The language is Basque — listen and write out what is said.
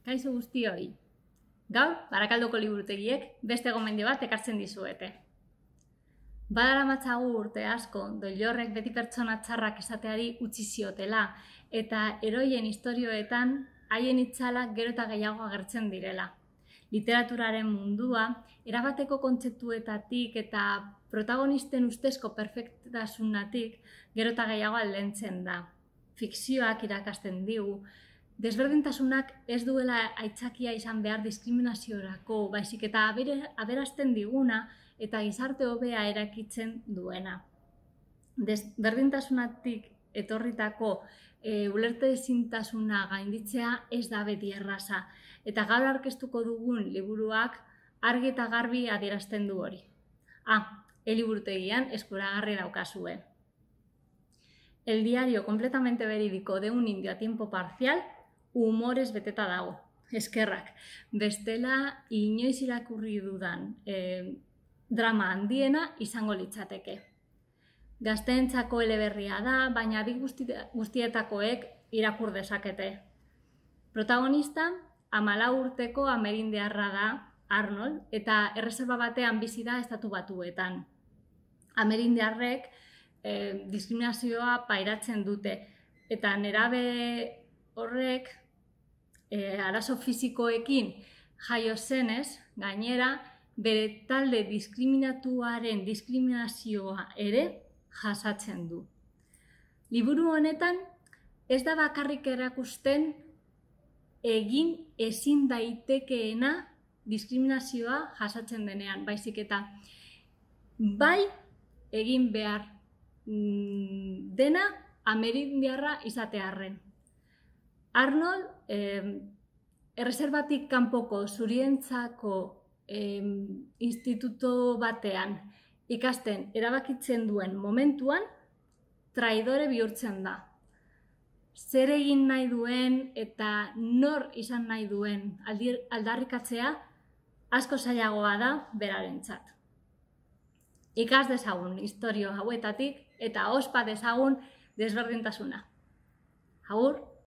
Kaixo guztioi. Gaur, Barakaldoko liburutegiek beste gomendio bat ekartzen dizuete. Badaramatzagu urte asko, Doilorrek beti pertsona txarrak esateari utzi ziotela, eta heroien istorioetan haien itzalak gero eta gehiago agertzen direla. Literaturaren mundua, erabateko kontzeptuetatik eta protagonisten ustezko perfektasunatik gero eta gehiago aldentzen da. Fikzioak irakasten digu, desberdintasunak ez duela aitzakia izan behar diskriminaziorako, baizik eta aberasten diguna eta gizarte hobea erakitzen duena. Desberdintasunatik etorritako ulertezintasuna gainditzea ez da beti erraza, eta gaur aurkeztuko dugun liburuak argi eta garbi adierazten du hori. Eliburutegian eskuragarri daukazue. El diario completamente verídico de un indio a tiempo parcial, humorez beteta dago. Eskerrak. Bestela, inoiz irakurri dudan drama handiena izango litzateke. Gazteentzako eleberria da, baina bi guztietakoek irakur dezakete. Protagonista, 14 urteko amerindiarra da, Arnold, eta erreserba batean bizi da Estatu Batuetan. Amerindiarrek diskriminazioa pairatzen dute, eta nerabe horrek arazo fisikoekin jaio zenez, gainera, bere talde diskriminatuaren diskriminazioa ere jasatzen du. Liburu honetan ez da bakarrik erakusten egin ezin daitekeena diskriminazioa jasatzen denean, baizik eta bai egin behar dena amerindiarra izatearren. Arnold, erreserbatik kanpoko zurientzako instituto batean ikasten erabakitzen duen momentuan, traidore bihurtzen da. Zer egin nahi duen eta nor izan nahi duen aldarrikatzea asko zailagoa da berarentzat. Ikas dezagun istorio hauetatik eta ospa dezagun desberdintasuna. Agur!